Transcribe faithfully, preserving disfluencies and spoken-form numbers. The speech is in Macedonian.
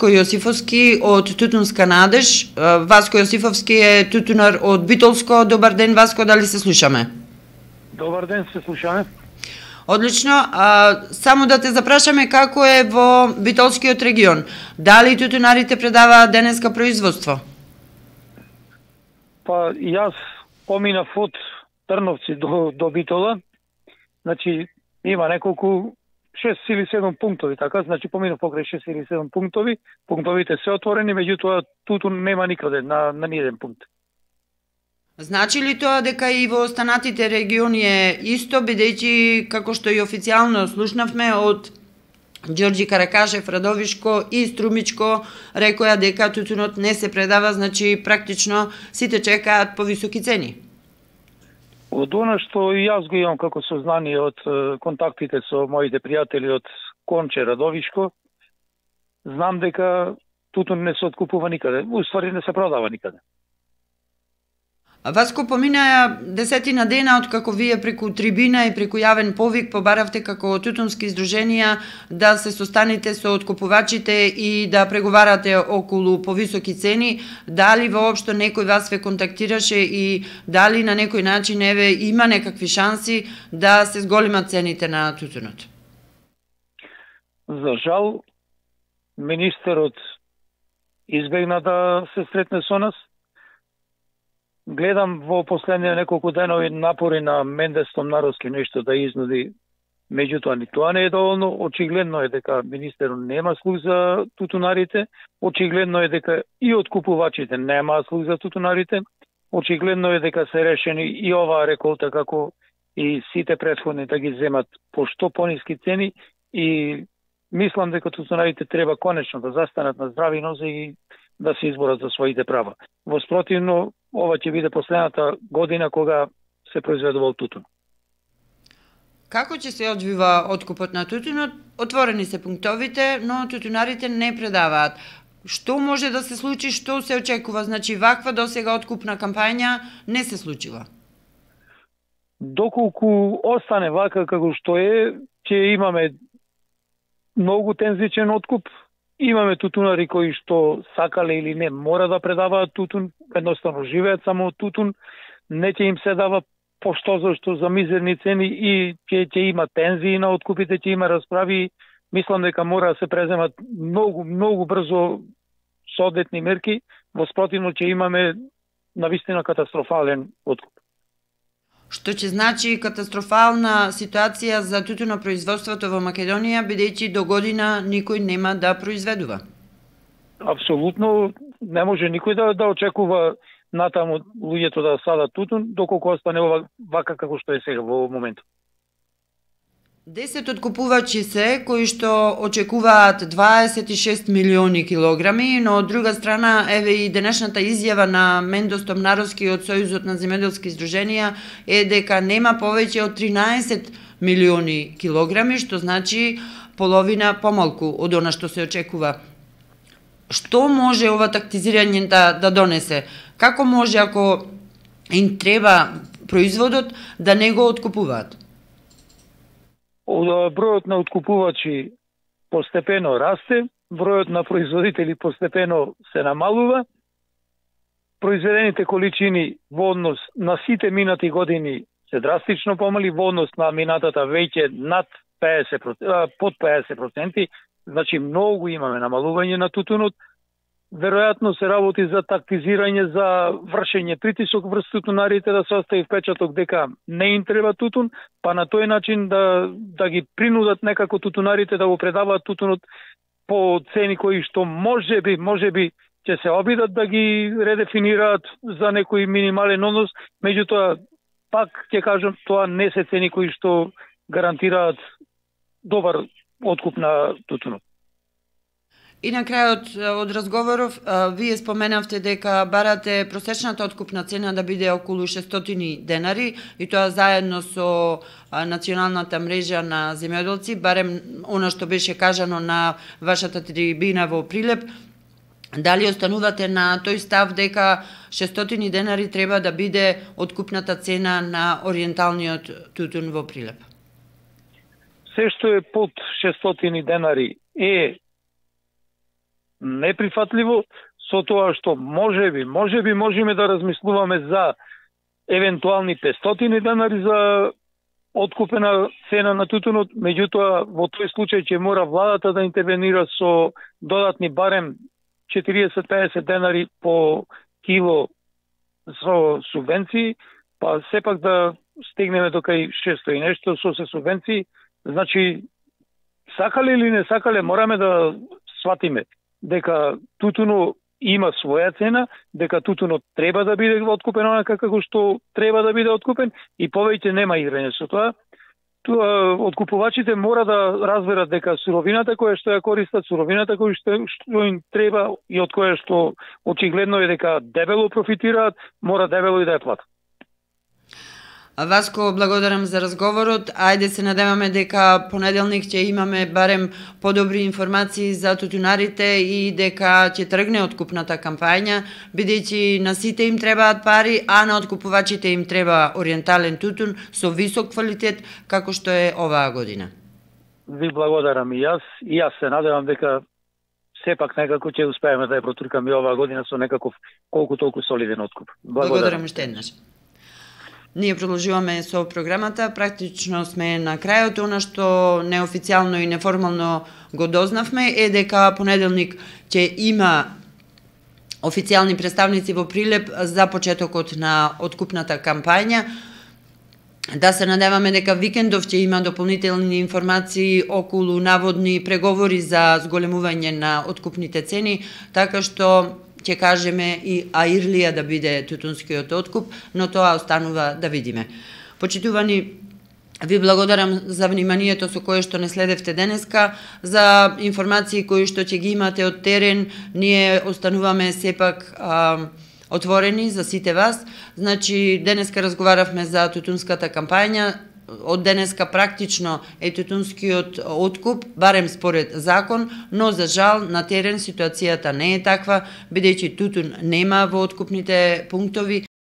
Васко Јосифовски од Тутунска надеж. Васко Јосифовски е тутунар од Битолско. Добар ден, Васко, дали се слушаме? Добар ден, се слушаме. Одлично. А, само да те запрашаме како е во Битолскиот регион. Дали тутунарите предаваат денеска производство? Па јас поминав од Трновци до, до Битола. Значи, има неколку шест или седум пунктови, така, значи поминав покрај шест или седум пунктови. Пунктовите се отворени, меѓутоа тутун нема никаде на, на ниеден пункт. Значи ли тоа дека и во останатите региони е исто, бидејќи како што и официјално слушнавме од Ѓорѓи Каракашев, Радовишко и Струмичко рекоа дека тутунот не се предава, значи практично сите чекаат повисоки цени? Од она што и јас го имам како сознание од контактите со моите пријатели од Конче, Радовишко, знам дека тутун не се откупува никаде, уствари не се продава никаде. Васко, поминаја десетина дена од како вие преку трибина и преку јавен повик побаравте како тутунски издруженија да се состаните со откупувачите и да преговарате околу повисоки цени. Дали воопшто некој вас ве контактираше и дали на некој начин еве има некакви шанси да се зголемат цените на тутунот? За жал, министерот избегна да се сретне со нас. Гледам во последните неколку денови напори на Менде Стомнаровски нешто да изнуди, меѓутоа ни тоа не е доволно. Очигледно е дека министерот нема слух за тутунарите, очигледно е дека и откупувачите немаат слух за тутунарите, очигледно е дека се решени и оваа реколта како и сите претходни да ги земат по што пониски цени и мислам дека тутунарите треба конечно да застанат на здрави нозе и да се изборат за своите права. Во спротивно, ова ќе биде последната година кога се произведува тутун. Како ќе се одвива откупот на тутунот? Отворени се пунктовите, но тутунарите не предаваат. Што може да се случи, што се очекува? Значи, ваква досега откупна кампања не се случила. Доколку остане вака како што е, ќе имаме многу тензичен откуп. Имаме тутунари кои што сакале или не мора да предаваат тутун, едноставно живеат само од тутун, не ќе им се дава пошто зашто за мизерни цени и ќе ќе има тензии на откупите, ќе има расправи. Мислам дека мора да се преземат многу многу брзо соодветни мерки, во спротивно ќе имаме навистина катастрофален откуп. Што ќе значи катастрофална ситуација за тутунопроизводството во Македонија, бидејќи до година никој нема да произведува? Апсолутно не може никој да, да очекува натаму луѓето да садат тутун, доколку остане ова вака како што е сега во моментот. Десет откупувачи се кои што очекуваат дваесет и шест милиони килограми, но од друга страна еве и денешната изјава на Мендо Стомнаровски од Сојузот на земјоделски издруженија е дека нема повеќе од тринаесет милиони килограми, што значи половина помалку од она што се очекува. Што може ова тактизирање да, да донесе? Како може ако им треба производот да не го откупуваат? Бројот на откупувачи постепено расте, бројот на производители постепено се намалува. Произведените количини во однос на сите минати години се драстично помали, во однос на минатата веќе над пеесет проценти, под пеесет проценти, значи многу имаме намалување на тутунот. Веројатно се работи за тактизирање, за вршење притисок врз тутунарите да се остави впечаток дека не им треба тутун, па на тој начин да, да ги принудат некако тутунарите да го предаваат тутунот по цени кои што можеби, можеби ќе се обидат да ги редефинираат за некој минимален однос, меѓутоа пак ќе кажам тоа не се цени кои што гарантираат добар откуп на тутунот. И на крајот од разговоров, вие споменавте дека барате просечната откупна цена да биде околу шестстотини денари и тоа заедно со националната мрежа на земјоделци, барем она што беше кажано на вашата трибина во Прилеп. Дали останувате на тој став дека шестстотини денари треба да биде откупната цена на ориенталниот тутун во Прилеп? Се што е под шестстотини денари е неприфатливо, со тоа што можеби, можеби можеме да размислуваме за евентуални петстотини денари за откупена цена на тутунот, меѓутоа во тој случај ќе мора владата да интервенира со додатни барем четириесет до пеесет денари по кило со субвенции, па сепак да стигнеме до кај шесто и нешто со се субвенции. Значи, сакале или не сакале, мораме да сватиме дека тутуно има своја цена, дека тутунот треба да биде откупен онака како што треба да биде откупен и повеќе нема играње со тоа. Тоа откупувачите мора да разберат дека суровината која што ја користат, суровината која што, што им треба и од која што очигледно е дека дебело профитираат, мора дебело и да ја платат. Васко, благодарам за разговорот. Ајде се надеваме дека понеделник ќе имаме барем подобри информации за тутунарите и дека ќе тргне откупната кампања, бидејќи на сите им требаат пари, а на откупувачите им треба ориентален тутун со висок квалитет, како што е оваа година. Ви благодарам и јас, и јас се надевам дека сепак некако ќе успееме да ја протуркаме оваа година со некаков колку толку солиден откуп. Благодарам, благодарам уште еднаш. Ние продолжуваме со програмата, практично сме на крајот. Она што неофицијално и неформално го дознавме е дека понеделник ќе има официјални представници во Прилеп за почетокот на откупната кампања. Да се надеваме дека викендов ќе има дополнителни информации околу наводни преговори за зголемување на откупните цени, така што ќе кажеме и аирлија да биде тутунскиот откуп, но тоа останува да видиме. Почитувани, ви благодарам за вниманието со кое што не следевте денеска, за информации кои што ќе ги имате од терен. Ние остануваме сепак а, отворени за сите вас. Значи, денеска разговаравме за тутунската кампања. Од денеска практично е тутунскиот откуп, барем според закон, но за жал на терен ситуацијата не е таква, бидејќи тутун нема во откупните пунктови.